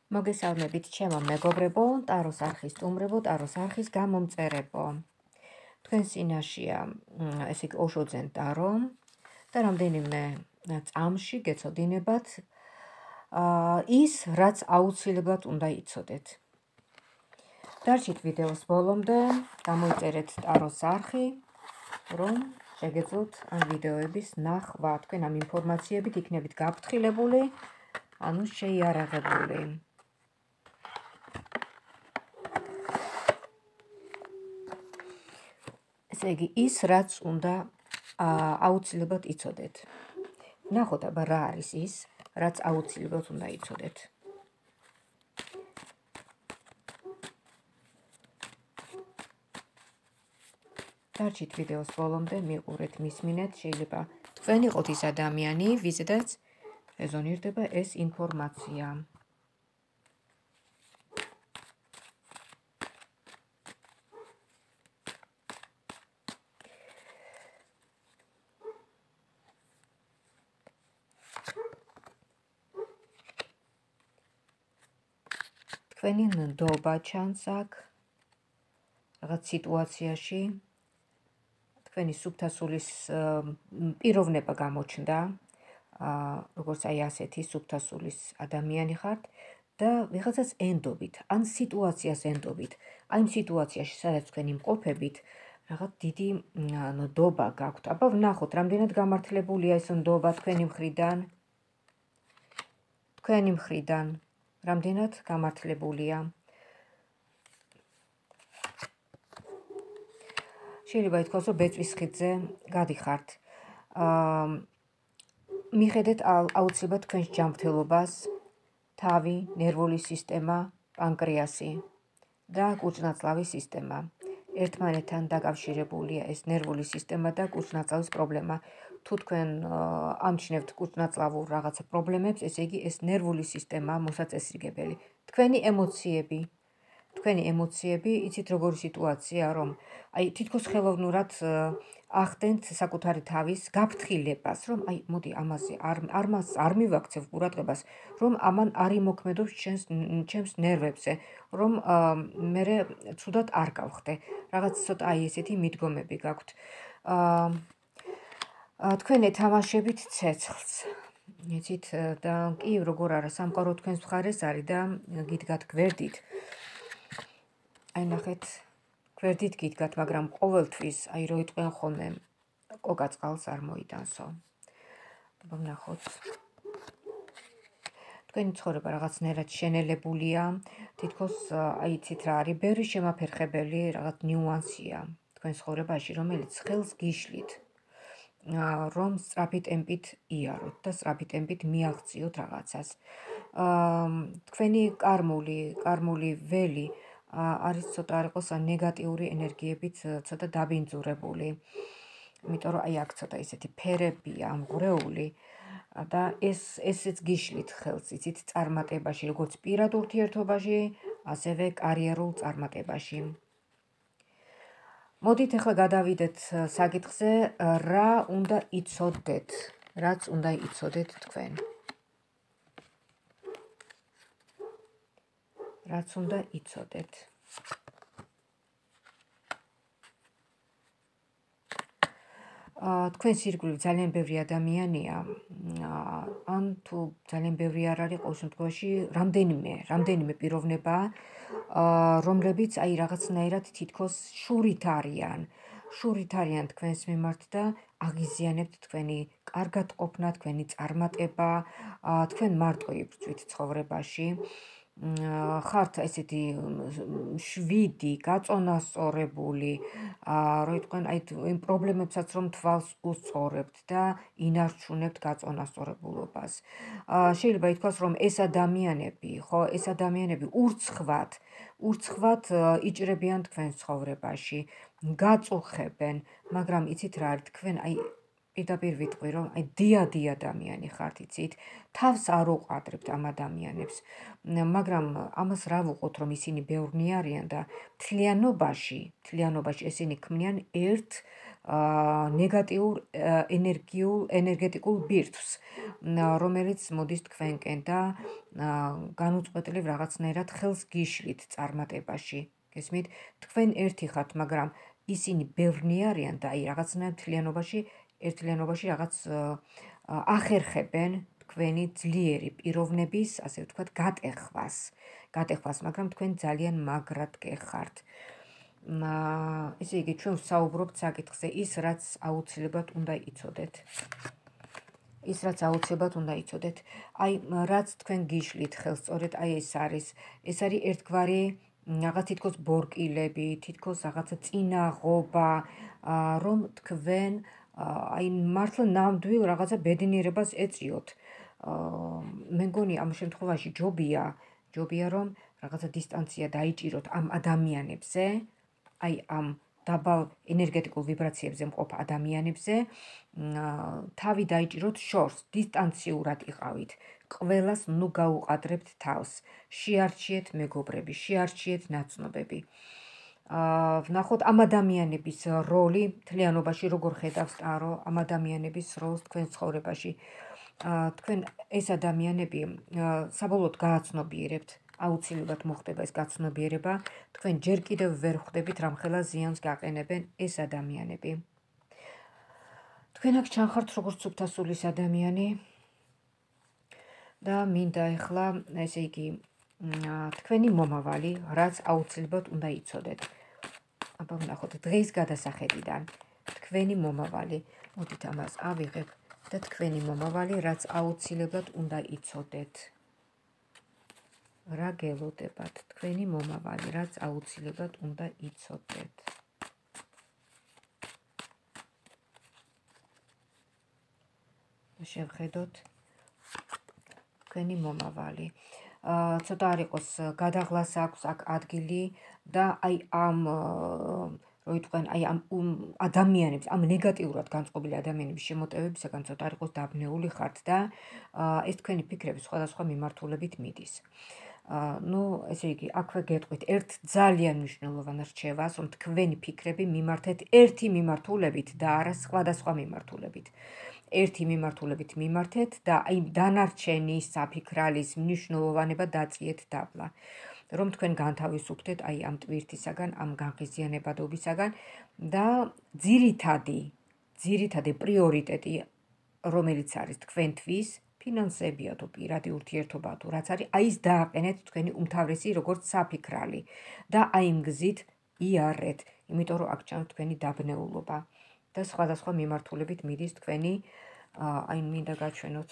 მოგესალმებით ჩემო მეგობრებო, ტაროს არხის სტუმრებო, ტაროს არხის გამომწერებო. თქვენ წინაშია ესე იგი ოშოძენ ტარო და რამდენიმე წამში გეცოდინებათ ის, რაც აუცილებლად უნდა იცოდეთ. დარჩით ვიდეოს ბოლომდე, გამოიწერეთ ტაროს არხი, რომ შეგეძლოთ ამ ვიდეოების ნახვა. თქვენ ამ ინფორმაციებით იქნებით გაფრთხილებული, ანუ შეიარაღებული. ესე იგი, ის, რაც უნდა აუცილებლად იცოდეთ. ნახოთ აბა რა არის ის, რაც აუცილებლად უნდა იცოდეთ. დარჩით ვიდეოს ბოლომდე, მიყურეთ, მისმინეთ, შეიძლება თქვენ იყოთ ის ადამიანი, ვიზედაც რეზონირდება ეს ინფორმაცია. თქვენი ნდობა ჩანს აქ რაღაც სიტუაციაში, თქვენი სუფთასულის პიროვნება გამოჩნდა, როგორც აი ასეთი სუფთასულის ადამიანი ხართ და ვიღაცას ენდობით, ან სიტუაციას ენდობით. აი იმ სიტუაციაში, სადაც თქვენ იმყოფებით, რაღაც დიდი ნდობა გაქვთ. აბა ვნახოთ, რამდენად გამართლებულია ეს ნდობა თქვენი მხრიდან. თქვენი მხრიდან რამდენად გამართლებულია. შეიძლება ითქვას, რომ ბეწვის ხიდზე გადიხართ. მიხედეთ აუცილებლად თქვენს ჯანმრთელობას, თავი, ნერვული სისტემა, პანკრეასი და კუჭნაწლავის სისტემა. ერთმანეთთან დაკავშირებულია ეს ნერვული სისტემა და კუჭნაწლავის პრობლემა. თუ თქვენ ამჩნევთ კუჭნაწლავურ რაღაცა პრობლემებს, ესე იგი ეს ნერვული სისტემა მოსაწესრიგებელი. თქვენი ემოციები, იცით როგორი სიტუაცია, რომ აი თითქოს ხელოვნურად ახდენთ საკუთარი თავის გაფრთხილებას, რომ აი მოდი ამაზე არ მივაქცევ ყურადღებას, რომ ამან არ იმოქმედოს ჩემს ნერვებზე, რომ მერე ცუდად არ გავხდე. რაღაც ცოტა აი ესეთი მიდგომები გაქვთ. თქვენ ეთამაშებით ცეცხლს. იცით და კი როგორ არა, სამყარო თქვენს მხარეს არის და გიდგათ გვერდით. აი ნახეთ, გვერდით გიდგათ, მაგრამ ყოველთვის აი რო იტყვიან ხოლმე კოკა-წყალს არ მოიტანსო. აბა ვნახოთ. თქვენი ცხოვრება რაღაცნაირად შენელებულია, თითქოს აი იცით რა არის, ბევრი შემაფერხებელი რაღაც ნიუანსია თქვენ ცხოვრებაში, რომელიც ხელს გიშლით, რომ სწრაფი ტემპით იაროთ და სწრაფი ტემპით მიაღწიოთ რაღაცას. თქვენი კარმული ველი არის ცოტა არ იყოს ნეგატიური ენერგიებით ცოტა დაბინძურებული. იმიტომ რომ აი აქ ცოტა ისეთი ფერებია ამღვრეული და ესეც გიშლით ხელს, იცით, წარმატებაში, როგორც პირად ურთიერთობაში, ასევე კარიერულ წარმატებაში. მოდით ახლა გადავიდეთ საკითხზე, რა უნდა იცოდეთ, რაც უნდა იცოდეთ თქვენ. რაც უნდა იცოდეთ. თქვენს ირგვლივ ძალიან ბევრი ადამიანია, ან თუ ძალიან ბევრი არ არის, ყოველ შემთხვევაში რამდენიმე პიროვნება, რომლებიც აი რაღაცნაირად თითქოს შურით არიან თქვენს მიმართ და აღიზიანებთ თქვენი კარგად ყოფნა, თქვენი წარმატება, თქვენ მარტო იბრძვით ცხოვრებაში. ხართ ესეთი შვიდი, გაწონასწორებული, რო იტყვენ აი იმ პრობლემებსაც რომ თვალს უსწორებთ და ინარჩუნებთ გაწონასწორებულობას. შეიძლება ითქვას, რომ ეს ადამიანები ურცხვად იჭრებიან თქვენს ცხოვრებაში, გაწუხებენ, მაგრამ იცით რა არის, თქვენ აი პირდაპირ ვიტყვი, რომ აი დიადი ადამიანი ხართ, იცით, თავს არ უყადრებთ ამ ადამიანებს, მაგრამ ამას რა ვუყოთ, რომ ისინი ბევრნი არიან და მთლიანობაში ესენი ქმნიან ერთ ნეგატიურ ენერგეტიკულ ბირთვს, რომელიც მოდის თქვენკენ და განუწყვეტლივ რაღაცნაირად ხელს გიშლით წარმატებაში. გესმით? თქვენ ერთი ხართ, მაგრამ ისინი ბევრნი არიან და აი რაღაცნაირად ერთლიანობაში რაღაც ახერხებენ თქვენი ძლიერი პიროვნების, ასე ვთქვათ, გატეხვას, მაგრამ თქვენ ძალიან მაგრად გეხართ. ესე იგი, ჩვენ ვსაუბრობთ საკითხზე ის, რაც აუცილებლად უნდა იცოდეთ. აი, რაც თქვენ გიშლით ხელს, სწორედ აი ეს არის ერთგვარი რაღაც თითქოს ბორკილები, თითქოს რაღაცა წინაღობა, რომ თქვენ აი მართლა ნამდვილ რაღაცა ბედნიერებას ეწიოთ. მე მგონი ამ შემთხვევაში ჯობია რომ რაღაცა დისტანცია დაიჭიროთ ამ ადამიანებზე, აი ამ დაბალ ენერგეტიკულ ვიბრაციებზე მყოფ ადამიანებზე, თავი დაიჭიროთ შორს, დისტანციურად იყავით. ყველას ნუ გაუყადრებთ თავს. შეარჩიეთ მეგობრები, შეარჩიეთ ნაცნობები. ვნახოთ ამ ადამიანების როლი მთლიანობაში როგორ ხედავს ტარო ამ ადამიანების როლს თქვენ ცხოვრებაში. თქვენ ეს ადამიანები საბოლოოდ გააცნობიერებთ, აუცილებლად მოხდება ეს გაცნობიერება, თქვენ ჯერ კიდევ ვერ ხვდებით რამხელა ზიანს გაყენებენ ეს ადამიანები. თქვენ აქ ჩანხართ როგორც სუფთასულის ადამიანი და მინდა ეხლა, ესე იგი, თქვენი მომავალი, რაც აუცილებლად უნდა იცოდეთ. აბა ვნახოთ დღის გადასახედიდან თქვენი მომავალი, მოდით ამას ავიღებ და თქვენი მომავალი, რაც აუცილებლად უნდა იცოდეთ. რა გელოდებათ თქვენი მომავალი, რაც აუცილებლად უნდა იცოდეთ. შევხედოთ თქვენი მომავალი. ცოტა არ იყოს გადაღლას აქვს აქ ადგილი და აი ამ ადამიანებს, ამ ნეგატიურად განწყობილი ადამიანების შემოტევებისაგან ცოტა არ იყოს დაბნეული ხართ და ეს თქვენი ფიქრები სხვადასხვა მიმართულებით მიდის. ესე იგი, აქვე გეტყვით ერთ ძალიან მნიშვნელოვან რჩევას, რომ თქვენი ფიქრები მიმართეთ ერთი მიმართულებით და არა სხვადასხვა მიმართულებით. ერთი მიმართულებით მიმართეთ და აი დანარჩენი საფიქრალის მნიშვნელოვანება დაწიეთ დაბლა. რომ თქვენ განთავისუფლდეთ აი ამ ტვირთისაგან, ამ განხიზიანებადობისაგან და ძირითადი პრიორიტეტი, რომელიც არის თქვენთვის, ფინანსებია თუ პირადი ურთიერთობა თუ რაც არის, აი ის დააყენეთ თქვენი უმთავრესი როგორც საფიქრალი და აი იმ გზით იარეთ, იმიტომ რომ აქ ჩანს თქვენი დაბნეულობა და სხვადასხვა მიმართულებით მიდის თქვენი, აი მინდა გაჩვენოთ,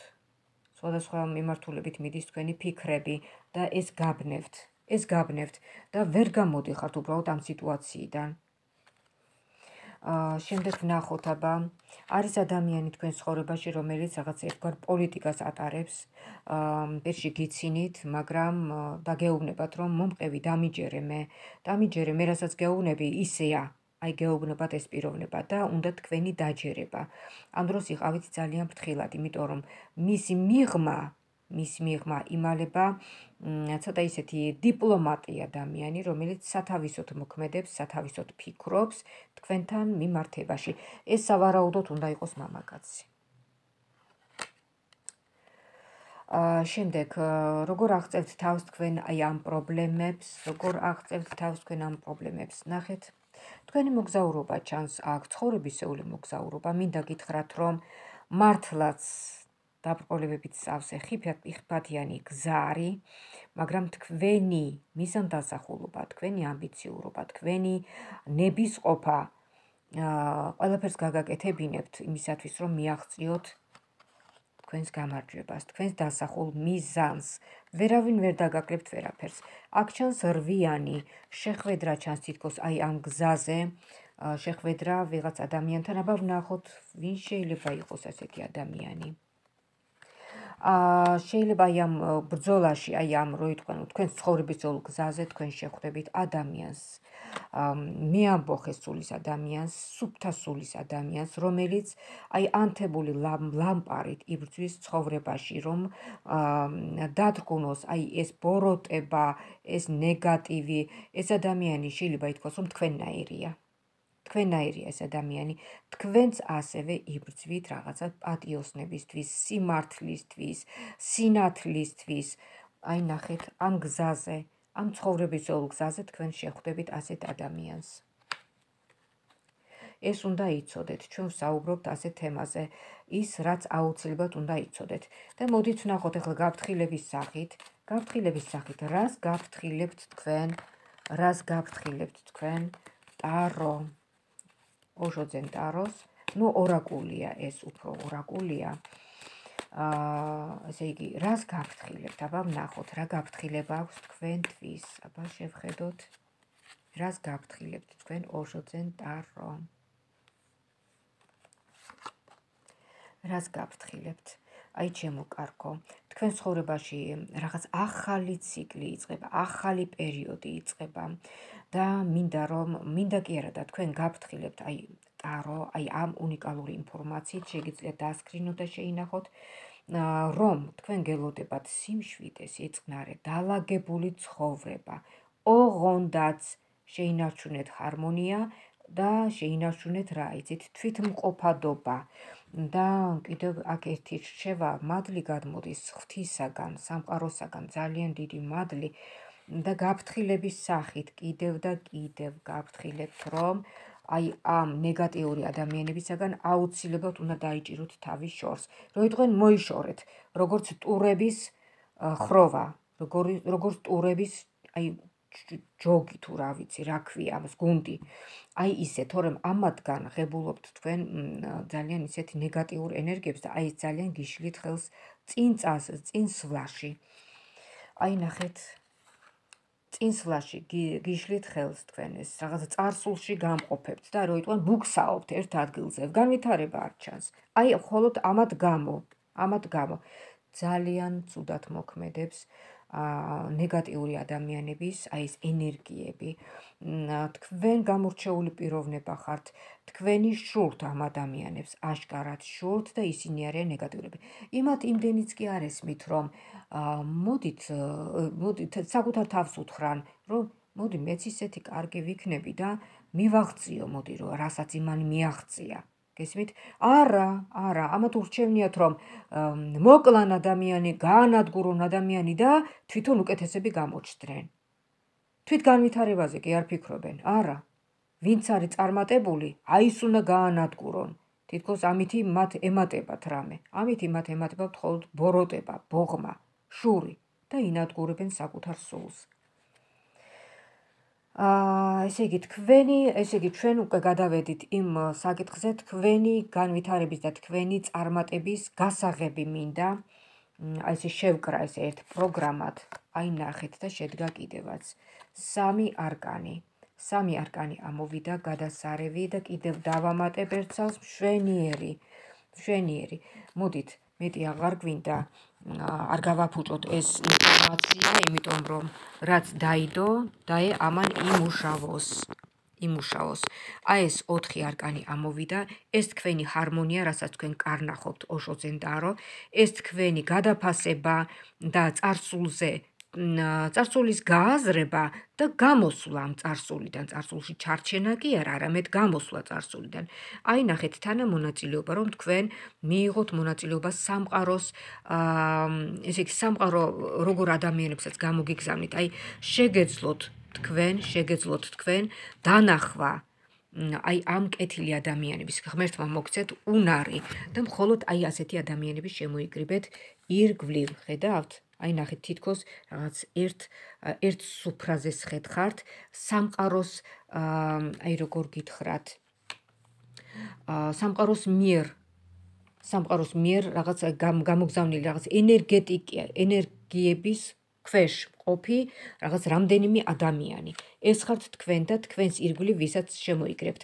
სხვადასხვა მიმართულებით მიდის თქვენი ფიქრები და ეს გაბნევთ და ვერ გამოდიხართ უბრალოდ ამ სიტუაციიდან. შემდეგ ვნახოთ, აბა არის ადამიანი თქვენ ცხოვრებაში, რომელიც რაღაც ერთგვარ პოლიტიკას ატარებს, პირში გიცინით, მაგრამ დაგეუბნებათ, რომ მომყევი დამიჯერე მე რასაც გეუბნები ისეა, აი გეუბნებათ ეს პიროვნება და უნდა თქვენი დაჯერება. ამ დროს იყავით ძალიან ფრთხილად, იმიტომ რომ მისი მიღმა იმალება ცოტა ისეთი დიპლომატი ადამიანი, რომელიც სათავისოდ მოქმედებს, სათავისოდ ფიქრობს თქვენთან მიმართებაში. ეს სავარაუდოდ უნდა იყოს მამაკაცი. შემდეგ, როგორ აღწევთ თავს თქვენ აი ამ პრობლემებს, ნახეთ. თქვენი მოგზაურობა ჩანს აქ, ცხოვრებისეული მოგზაურობა, მინდა გითხრათ, რომ მართლაც დაბრკოლებებით სავსე ხიფათიანი გზა არის, მაგრამ თქვენი მიზანდასახულობა, თქვენი ამბიციურობა, თქვენი ნებისყოფა ყველაფერს გაგაკეთებინებთ იმისათვის, რომ მიაღწიოთ თქვენს გამარჯვებას, თქვენს დასახულ მიზანს. ვერავინ ვერ დაგაკლებთ ვერაფერს. აქ ჩანს რვიანი შეხვედრა ჩანს თითქოს აი ამ გზაზე, შეხვედრა ვიღაც ადამიანთან, აბა ვნახოთ, ვინ შეიძლება იყოს ასეთი ადამიანი. შეიძლება აი ამ ბრძოლაში, აი ამ რო იტყვენ, თქვენ ცხოვრების ძველ გზაზე თქვენ შეხვდებით ადამიანს. მე ამბოხე სულის ადამიანს, სუფთა სულის ადამიანს, რომელიც აი ანთებული ლამპარით იბრძვის ცხოვრებაში, რომ დადგუნოს აი ეს ბოროტება, ეს ნეგატივი, ეს ადამიანი შეიძლება ითქვას, რომ თქვენნაირია. თქვენნაირია ეს ადამიანი, თქვენც ასევე იბრძვით რაღაცა პატიოსნებისთვის, სიმართლისთვის, სინათლისთვის. აი ნახეთ, ამ გზაზე, ამ ცხოვრების ძველ გზაზე თქვენ შეხვდებით ასეთ ადამიანს. ეს უნდა იცოდეთ, ჩვენ ვსაუბრობთ ასეთ თემაზე, ის რაც აუცილებლად უნდა იცოდეთ. და მოდით ვნახოთ ახლა გაფრთხილების სახით, რას გაფრთხილებთ თქვენ, ტარო. ოშოძენ ტაროს, ნუ ორაკულია ეს, უფრო ორაკულია. ესე იგი, რას გაფრთხილებთ? აბა ვნახოთ, რა გაფრთხილება აქვს თქვენთვის. აბა შევხედოთ, რას გაფრთხილებთ თქვენ ოშოძენ ტარო. რას გაფრთხილებთ? აი ჩემო კარგო, თქვენ ცხოვრებაში რაღაც ახალი ციკლი იწყება, ახალი პერიოდი იწყება და მინდა კი არა და თქვენ გაფრთხილებთ აი ტარო, აი ამ უნიკალური ინფორმაციით შეგიძლიათ დასკრინოთ და შეინახოთ, რომ თქვენ გელოდებათ სიმშვიდე, სიწყნარე, დალაგებული ცხოვრება, ოღონდაც შეინარჩუნეთ ჰარმონია და შეინარჩუნეთ რა იცით, თვითმყოფადობა. და კიდევ აქ ერთი რჩევა, მადლი გადმოდის ღვთისაგან, სამყაროსაგან, ძალიან დიდი მადლი და გაფრთხილების სახით კიდევ და კიდევ გაფრთხილებთ, რომ აი ამ ნეგატიური ადამიანებისაგან აუცილებლად უნდა დაიჭიროთ თავის შორს. რო იტყვენ მოიშორეთ, როგორც ტურების ხროვა, როგორც ტურების აი ჯოგი თუ რა ვიცი, რა ქვია ამას, გუნდი. აი ისე, თორემ ამათგან ღებულობთ თქვენ ძალიან ისეთი ნეგატიურ ენერგიებს და აი ძალიან გიშლით ხელს წინ სვლაში. აი ნახეთ, წინ სვლაში გიშლით ხელს თქვენ ეს რაღაც წარსულში გამყოფებთ და რო იტყვენ ბუქსაობთ ერთ ადგილზე, განვითარება არ ჩანს. აი მხოლოდ ამათ გამო ძალიან ცუდად მოქმედებს ნეგატიური ადამიანების აი ეს ენერგიები. თქვენ გამორჩეული პიროვნება ხართ, თქვენი შურთ ამ ადამიანებს, აშკარად შურთ და ისინი არიან ნეგატიურები. იმათ იმდენიც კი არ ესმით, რომ მოდით საკუთარ თავს უთხრან, რომ მოდი მეც ისეთი კარგი ვიქნები და მივაღწიო, მოდი რომ რასაც იმან მიაღწია. გესმით? არა, ამათ ურჩევნიათ, რომ მოკლან ადამიანი, გაანადგურონ ადამიანი და თვითონ უკეთესები გამოჩნდნენ. თვით განვითარებაზე კი არ ფიქრობენ. არა. ვინც არის წარმატებული, აი ის უნდა გაანადგურონ. თითქოს ამითი მათ ემატებათ რამე. ამითი მათ ემატებათ მხოლოდ ბოროტება, ბოღმა, შური და ინადგურებენ საკუთარ სულს. ესე იგი ჩვენ უკვე გადავედით იმ საკითხზე, თქვენი განვითარების და თქვენი წარმატების გასაღები მინდა. აი ესე შევკრა ეს ერთ პროგრამად. აი ნახეთ და შედგა კიდევაც. 3 არკანი. 3 არკანი ამოვიდა გადასარევი და კიდევ დავამატებ ერთსავს მშვენიერი. მოდით, მეტი აღარ გვინდა, არ გავაფუჭოთ ეს ინფორმაცია, იმიტომ რომ რაც დაიდო, დაე ამან იმუშავოს. აი ეს 4 არკანი ამოვიდა, ეს თქვენი ჰარმონია, რასაც თქვენ კარნახობთ ოშოძენ ტარო, ეს თქვენი გადაფასება და წარსულის გააზრება და გამოსვლა ამ წარსულიდან, წარსულში ჩარჩენა კი არა, არამედ გამოსვლა წარსულიდან. აი ნახეთ თანამონაწილეობა, რომ თქვენ მიიღოთ მონაწილეობა სამყაროს, ესე იგი სამყარო როგორ ადამიანებსაც გამოგიგზავნით, აი შეგეძლოთ თქვენ დანახვა აი ამ კეთილი ადამიანების, ღმერთმა მოგცეთ უნარი და მხოლოდ აი ასეთი ადამიანების შემოიკრიბეთ ირგვლივ, ხედავთ? აი ნახეთ, თითქოს რაღაც ერთ სუფრაზეს ხედხართ, სამყაროს აი როგორ გითხრათ, სამყაროს მიერ რაღაც გამოგზავნილი რაღაც ენერგიების ქვეშ ყოფი რაღაც რამდენიმე ადამიანი. ეს ხართ თქვენ და თქვენს ირგვლივ ვისაც შემოიკრებთ.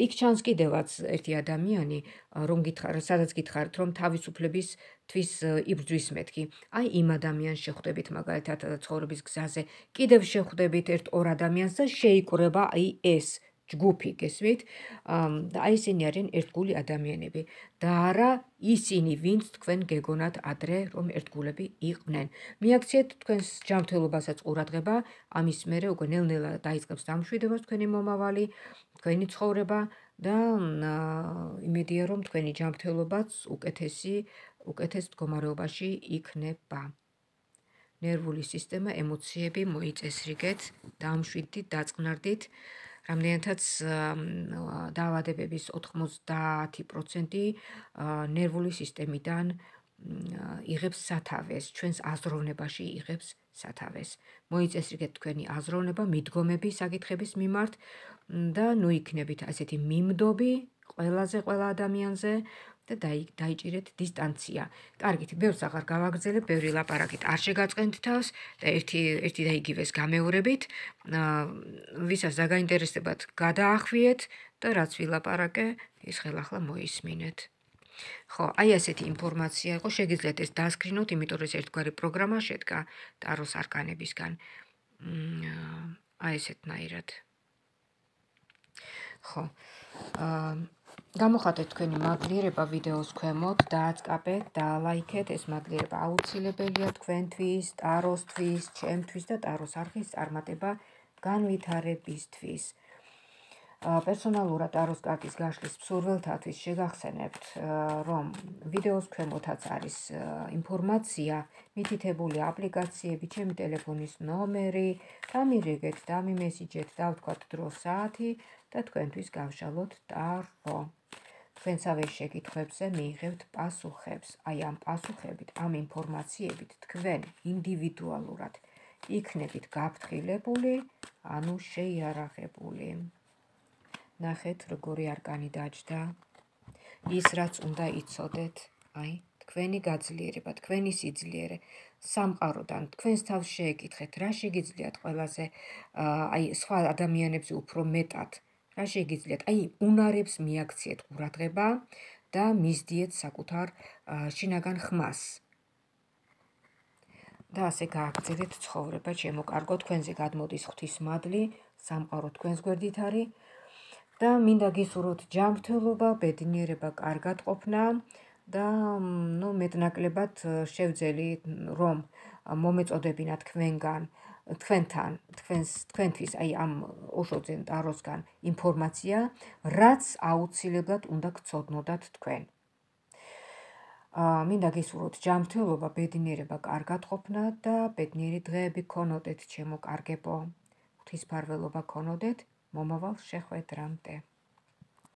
იქ ჩანს კიდევაც ერთი ადამიანი, სადაც გითხარით, რომ თავისუფლებისთვის იბრძვის მეთქი. აი იმ ადამიანს შეხვდებით მაგალითად ცხოვრების გზაზე. კიდევ შეხვდებით ერთ-ორ ადამიანს და შეიკრება აი ეს ჯგუფი, გესმით? და აი ისინი არიან ერთგული ადამიანები და არა ისინი, ვინც თქვენ გეგონათ ადრე, რომ ერთგულები იყვნენ. მიაქციეთ თქვენს ჯანმრთელობასაც ყურადღება, ამის მერე უკვე ნელ-ნელა დაიწყებს დამშვიდებას თქვენი მომავალი, თქვენი ცხოვრება და იმედია, რომ თქვენი ჯანმრთელობაც უკეთეს მდგომარეობაში იქნება. ნერვული სისტემა, ემოციები მოიწესრიგეთ, დამშვიდდით, დაწყნარდით. რამდენადაც დაავადებების 90% ნერვული სისტემიდან იღებს სათავეს, ჩვენს აზროვნებაში იღებს სათავეს. მოიწესრიგეთ თქვენი აზროვნება, მიდგომები საკითხების მიმართ და ნუ იქნებით ასეთი მიმდობი ყველა ადამიანზე და დაიჭირეთ დისტანცია. კარგით, ბევრს აღარ გავაგრძელებ, ბევრი ლაპარაკით არ შეგაწყენთ თავს და ერთი და იგივეს გამეორებით, ვისაც დაგაინტერესებათ, გადაახვიეთ და რაც ვილაპარაკე, ის ხელახლა მოისმინეთ. ხო, აი ასეთი ინფორმაცია იყო, შეგიძლიათ ეს დასკრინოთ, იმიტომ რომ ეს ერთგვარი პროგრამა შედგა ტაროს არკანებისგან. აი ესეთნაირად. ხო. გამოხატეთ თქვენი მადლიერება ვიდეოს ქვემოთ, დააწყაბეთ, დაალაიქეთ, ეს მადლიერება აუცილებელია თქვენთვის, ტაროსთვის, ჩემთვის და ტაროს არხის წარმატება განვითარებისთვის. პერსონალურად ტაროს კარტის გაშლის მსურველთათვის შეგახსენებთ, რომ ვიდეოს ქვემოთაც არის ინფორმაცია, მითითებული აპლიკაციები, ჩემი ტელეფონის ნომერი, დამირიგეთ, დამიმესიჯეთ, დავთქვათ დრო, საათი და თქვენთვის გავშალოთ ტარო. თქვენსავე შეკითხვებზე მიიღებთ პასუხებს. აი ამ პასუხებით, ამ ინფორმაციებით თქვენ ინდივიდუალურად იქნებით გაფრთხილებული, ანუ შეიარაღებული. ნახეთ, როგორი არკანი დაჯდა. ის, რაც უნდა იცოდეთ, აი, თქვენი გაძლიერება, თქვენი სიძლიერე, სამყაროდან თქვენს თავს შეეკითხეთ, რა შეგიძლიათ ყველაზე, აი, სხვა ადამიანებზე უფრო მეტად, რა შეგიძლიათ, აი, უნარებს მიაქციეთ ყურადღება და მისდიეთ საკუთარ შინაგან ხმას. და ასე გააგრძელეთ ცხოვრება, ჩემო კარგო, თქვენზე გადმოდის ღვთისმადლი, სამყარო თქვენს გვერდით არის. და მინდა გისურვოთ ჯანმრთელობა, ბედნიერება, კარგად ყოფნა და მეტნაკლებად შევძელი, რომ მომეწოდებინა თქვენთვის აი ამ ოშოძენ ტაროსგან ინფორმაცია, რაც აუცილებლად უნდა გცოდნოდათ თქვენ. მინდა გისურვოთ ჯანმრთელობა, ბედნიერება, კარგად ყოფნა და ბედნიერი დღეები გქონოდეთ, ჩემო კარგებო. ღვთისმფარველობა გქონოდეთ, მომავალ შეხვედრამდე.